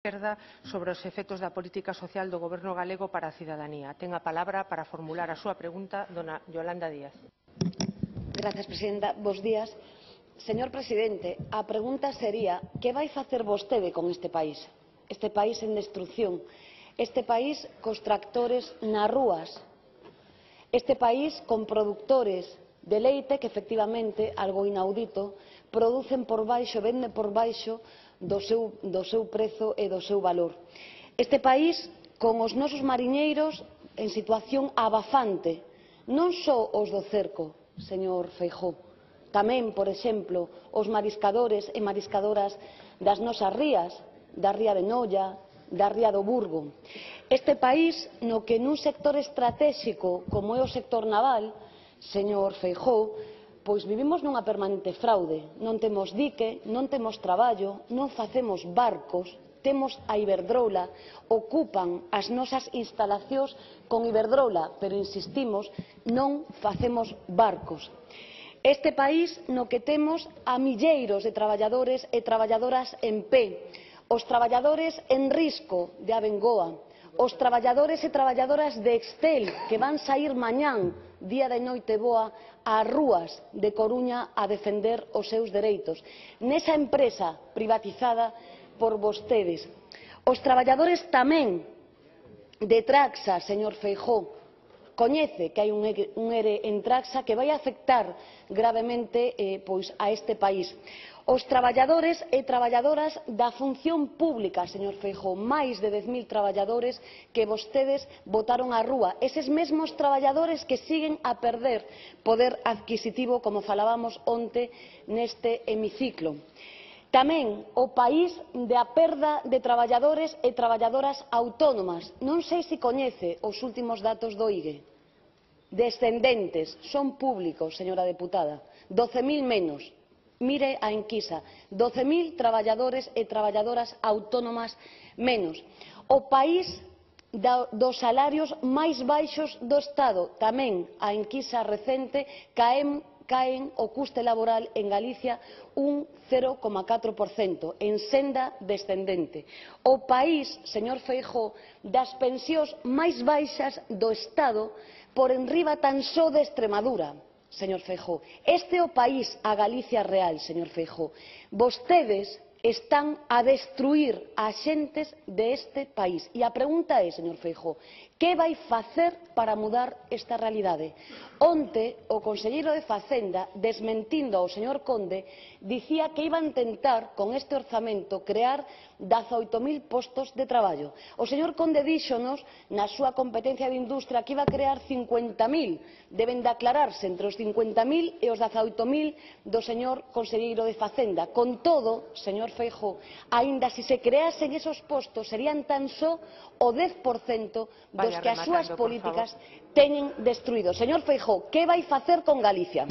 Esquerda sobre os efectos da política social do Goberno galego para a cidadanía. Ten a palabra para formular a súa pregunta dona Yolanda Díaz. Gracias, presidenta. Bos días. Señor presidente, a pregunta sería que vai facer vostede con este país? Este país en destrucción, este país cos tractores nas rúas, este país con produtores de leite que efectivamente, algo inaudito, producen por baixo, venden por baixo do seu prezo e do seu valor. Este país con os nosos mariñeiros en situación abafante, non só os do cerco, señor Feijóo, tamén, por exemplo, os mariscadores e mariscadoras das nosas rías, da ría de Noia, da ría do Burgo. Este país no que nun sector estratéxico como é o sector naval, señor Feijóo, pois vivimos nunha permanente fraude. Non temos dique, non temos traballo, non facemos barcos, temos a Iberdrola, ocupan as nosas instalacións con Iberdrola, pero insistimos, non facemos barcos. Este país no que temos a milleiros de traballadores e traballadoras en pé, os traballadores en risco de Abengoa, os traballadores e traballadoras de Excel que van saír mañán, día de noite boa, ás rúas de Coruña a defender os seus dereitos, nesa empresa privatizada por vostedes. Os traballadores tamén de Traxa, señor Feijóo, coñece que hai un ERE en Traxa que vai afectar gravemente a este país. Os traballadores e traballadoras da función pública, señor Feijóo, máis de 10.000 traballadores que vostedes botaron á rúa, eses mesmos traballadores que siguen a perder poder adquisitivo, como falábamos onte neste hemiciclo. Tamén o país da perda de traballadores e traballadoras autónomas. Non sei se coñece os últimos datos do IGE. Descendentes, son públicos, señora deputada, 12.000 menos. Mire a enquisa, 12.000 traballadores e traballadoras autónomas menos. O país dos salarios máis baixos do Estado, tamén a enquisa recente, caen o custe laboral en Galicia un 0,4%, en senda descendente. O país, señor Feijóo, das pensións máis baixas do Estado por enriba tan só de Extremadura. Señor Feijóo, este é o país, a Galicia real, señor Feijóo. Vostedes están a destruir as xentes deste país. E a pregunta é, señor Feijóo, que vai facer para mudar esta realidade? Onte, o conselleiro de Facenda, desmentindo ao señor Conde, dicía que iba a intentar, con este orzamento, crear 18.000 postos de traballo. O señor Conde díxonos, na súa competencia de industria, que iba a crear 50.000. Deben de aclararse entre os 50.000 e os 18.000 do señor conselleiro de Facenda. Con todo, señor Feijóo, aínda se creasen esos postos, serían tan só o 10% dos que as súas políticas teñen destruído. Señor Feijóo, que vai facer con Galicia?